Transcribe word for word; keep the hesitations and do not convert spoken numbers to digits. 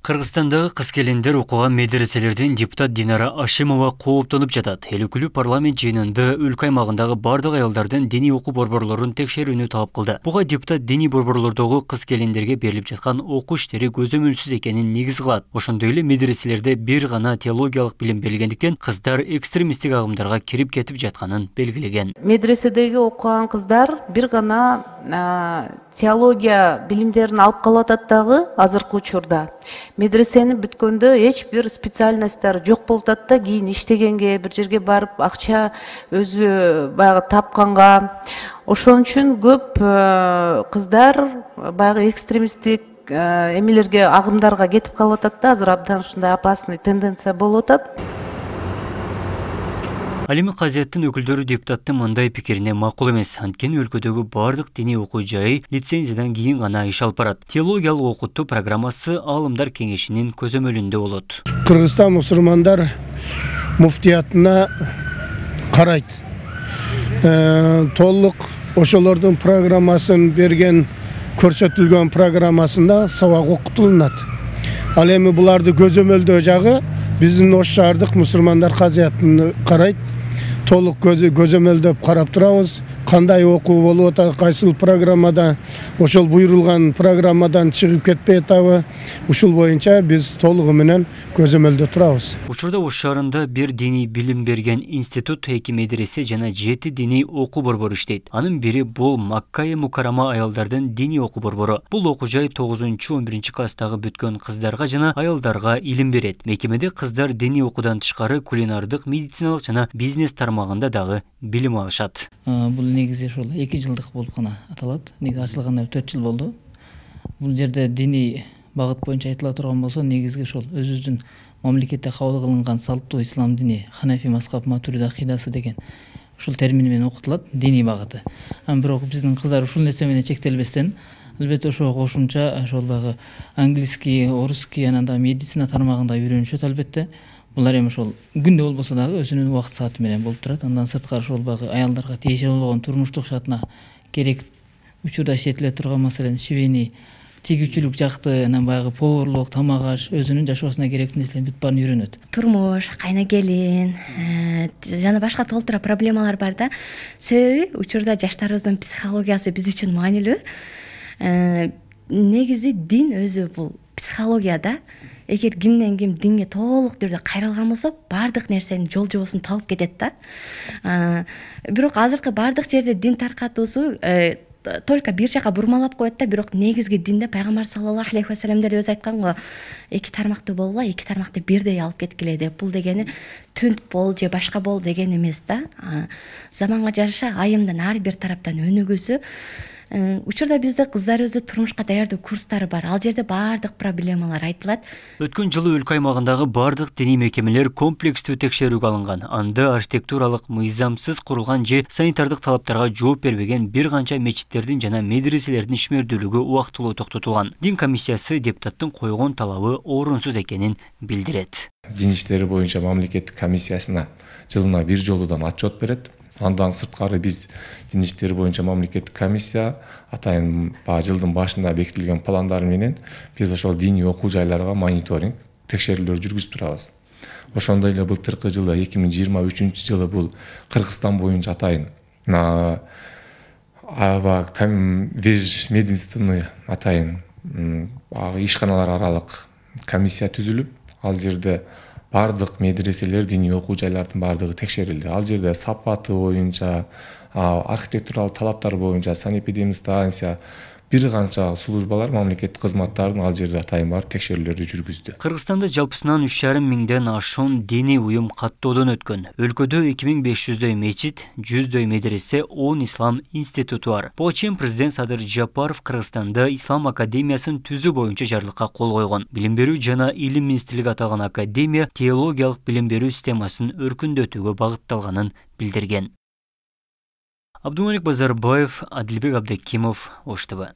Кыргызстандагы кыз-келиндер окуган медреселерден депутат Динара Ашимова кооптонуп жатат. Эл өкүлү парламент жыйынында өлкө аймагындагы бардык аялдардын диний окуу борборлорун текшерүүнү талап кылды. Буга депутат диний борборлордогу кыз-келиндерге берилип жаткан окуу иштери көзөмөлсүз экенин негиз кылат. Ошондой эле медреселерде бир гана теологиялык билим берилгендиктен кыздар экстремисттик агымдарга кирип кетип жатканын белгилеген. Медреседеги окуган кыздар бир гана теология билимдерин алып калып атат дагы азыркы учурда. Медресени бүткөндө эч бир специальностьтар жок болуп атат да, кийин иштегенге, бир жерге барып акча өзү баягы тапканга. Ошон үчүн көп кыздар баягы экстремисттик эмелерге, агымдарга кетип калып атат да, азыр абдан ушундай опасный тенденция болуп атат. Алимий Казияттын өкүлдөрү депутаттын мындай пикирине макул эмес. Анткени өлкөдөгү бардык диний окуу жайы лицензиядан кийин гана иш алып барат. Теологиялык окутуу программасы Аалымдар кеңешинин көзөмөлүндө болот. Кыргызстан мусулмандар муфтиятына карайт. Толук ошолордун программасын берген, көрсөтүлгөн программасында сабак окутулат. Ал эми буларды көзөмөлдөө жагы биздин ош шаардык мусулмандар казияттын карайт. Толук көзөмөлдөп карап турабыз. Кандай окуу болуп атат, кайсыл программада, ошол буйрулган программадан чыгып кетпей атабы, ушул боюнча биз толугу менен көзөмөлдө турабыз. Учурда Ош шаарында бир диний билим берген институт, эки медресе жана жети диний окуу борбору иштейт. Анын бири бул Макка-и Мукаррама аялдардын диний окуу борбору. Бул окуу жай тогузунчу он биринчи класстагы бүткөн кыздарга жана аялдарга илим берет. Мекемеде кыздар диний окуудан тышкары кулинардык, медициналык жана бизнес тармагында дагы билим алышат. Бул негизи ошол эки жылдык болуп гана аталат. Негизи ачылганына төрт жыл болду. Бул жерде диний багыт боюнча айтыла турган болсо, негизги ошол өзүбүздүн мамлекетте кабыл кылынган салттуу ислам дини, Ханафи мазхаб Матуриди акыйдасы деген ушул термин менен окутулат, диний багыты. Ам бирок биздин кыздар ушул нерсе менен чектелбестен, албетте ошого кошумча ошол багы английский, орусский, анан да медицина тармагында үйрөнүшөт албетте. Булар эми ошол күндө болбосо дагы өзүнүн убакыт сааты менен болуп турат. Андан сырткары ошол багы аялдарга тиешелүү болгон турмуштук шартына керек учурда иштетиле турган маселен шибени, тигүүчүлүк жакты, анан баягы поварлык, тамак аш, өзүнүн жашоосуна керектүү нерселердин бүт баарын үйрөнөт. Турмуш, кайна келин жана башка толтура проблемалар бар да. Себеби учурда жаштарыбыздын психологиясы биз үчүн маанилүү. Негизи дин өзү бул психология да. Эгер кимден ким динге толук түрдө кайрылган болсо, бардык нерсенин жол жобосун тауып кетет да. Бирок азыркы бардык жерде дин таркатуусу только бир жака бурмалап коет да, бирок негизги динде пайгамбар саллаллаху алейхи ва саллям деле өзү айткан го, эки тармакты болгула, эки тармакты бирдей алып кеткиле деп. Бул дегени түнт бол же башка бол деген эмес да. Заманга жараша айымдын ар бир тараптан өнүгүүсү. Учурда бизде кыздарыбызды турмушка даярдоо курстары бар. Ал жерде бардык проблемалар айтылат. Өткөн жылы өлкө аймагындагы бардык диний мекемелер комплекстүү текшерүүгө алынган. Анда архитектуралык мыйзамсыз курулган же санитардык талаптарга жооп бербеген бир канча мечиттердин жана медреселердин ишмердүүлүгү убактылуу токтотулган. Дин комиссиясы депутаттын койгон талабы орунсуз экенин билдирет. Дин иштери боюнча мамлекеттик комиссиясына жылына бир жолудан отчет берет. Андан сырткары биз дин иштери боюнча мамлекеттик комиссия атайын жылдын башында бекитилген пландар менен биз ошол диний окуу жайларга мониторинг, текшерүүлөр жүргүзүп турабыз. Ошондой эле былтыркы жылы эки миң жыйырма үчүнчү жылы бул Кыргызстан боюнча атайын аба ведомственный атайын ишканалар аралык комиссия түзүлүп, ал жерде бардык медреселер, диний окуу жайлардын бардыгы текшерилди. Ал жерде сапаты боюнча, архитектуралык талаптар боюнча санэпидемстанция, бир канча службалар, мамлекеттик кызматтардын ал жерде атайын бар текшерүүлөрдү жүргүздү. Кыргызстанда жалпысынан үч жарым миңден ашуун диний уюм каттоодон өткөн. Өлкөдө эки миң беш жүздөй мечит, жүздөй медресе, он ислам институту бар. Буга чейин президент Садыр Жапаров Кыргызстанда ислам академиясын түзүү боюнча жарлыкка кол койгон. Билим берүү жана илим министрлиги аталган академия теологиялык билим берүү системасын өркүндөтүүгө багытталганын билдирген. Абдумалик Базарбаев, Адилбек Абдыкимов, Ош ТВ.